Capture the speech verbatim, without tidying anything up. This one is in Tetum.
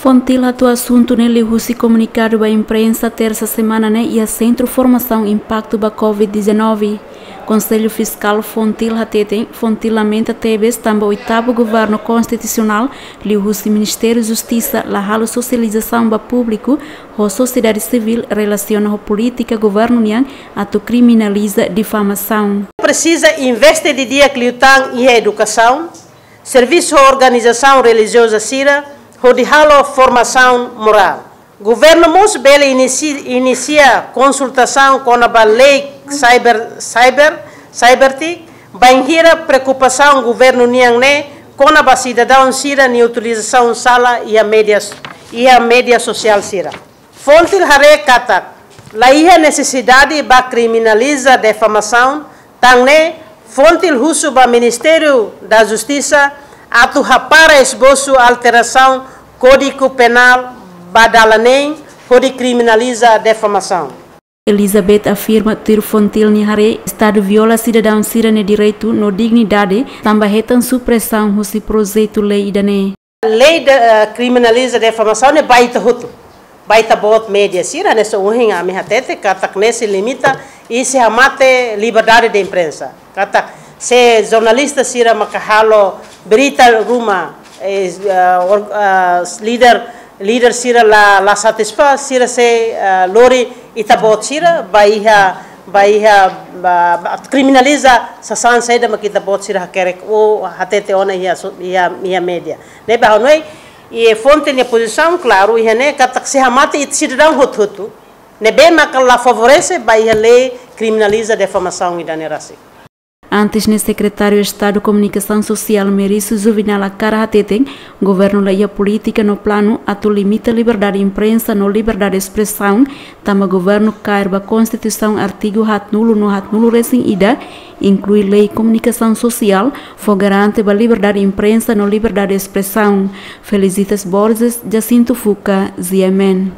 Fontil hato'o asuntu ne'e liuhusi komunikadu ba imprensa tersa semana ne'e iha Sentru Formasaun Impaktu ba covid dezanove. Konsellu Fiskál Fontil hateten, Fontil lamenta tebes tanba oitavu governu konstitusionál liuhusi Ministériu Justisa la halo sosializasaun ba públiku ho sosiedade sivíl relasiona ho polítika governu nian atu kriminaliza difamasaun. Presiza investe didi'ak liután iha edukasaun, servisu ho organizasaun relijioza sira, hodi halo formasaun morál. Governu mós bele inisi-, inisia konsultasaun kona-ba lei cyber, cyber, cybertic, bainhira preokupasaun governu nian ne'e kona-ba sidadaun sira-nia utilizasaun sala iha média, iha média sosiál sira. Fontil haree katak la iha nesesidade ba kriminaliza difamasaun, tan ne'e Fontil husu ba Ministériu da Justisa atu hapara esbosu alterasaun Kódigu Penál ba dalan neen hodi kriminaliza difamasaun. Elizabeth afirma tuir Fontil nia haree, Estadu viola sidadaun sira-nia direitu no dignidade tanba hetan supresaun husi projetu lei ida-ne'e. Lei de, eh, kriminaliza difamasaun ne'e ba ita hotu, ba ita-boot média sira, ne'e só ohin ami hatete katak ne'e sei limita i sei hamate liberdade de imprensa. Katak se jornalista sira maka halo berita ruma, eh, eh, or-, eh, líder, líder sira la, la satisfás, sira sei, eh, lori ita-boot sira ba iha, ba iha, ba, ba kriminaliza sasán saida mak ita-boot sira hakerek ou hatete ona iha so-, iha, iha média. Ne'ebé ha'u hanoin, i Fontil nia pozisaun klaru iha ne'e katak sei hamate ita sidadaun hotu-hotu. Ne'ebé maka la favorese ba iha lei kriminaliza difamasaun ida-ne'e rasik. Antes ne'e Sekretáriu Estadu Komunikasaun Sosiál Merício Juvinal Acara hateten, governu la iha polítika no planu atu limita liberdade imprensa no liberdade espresaun, tanba governu kaer ba Konstituisaun artigu haatnulu no haatnulu resin ida, inklui lei komunikasaun sosiál, fó garante ba liberdade imprensa no liberdade espresaun. Felicitas Borges, Jacinto Fuca, G M N.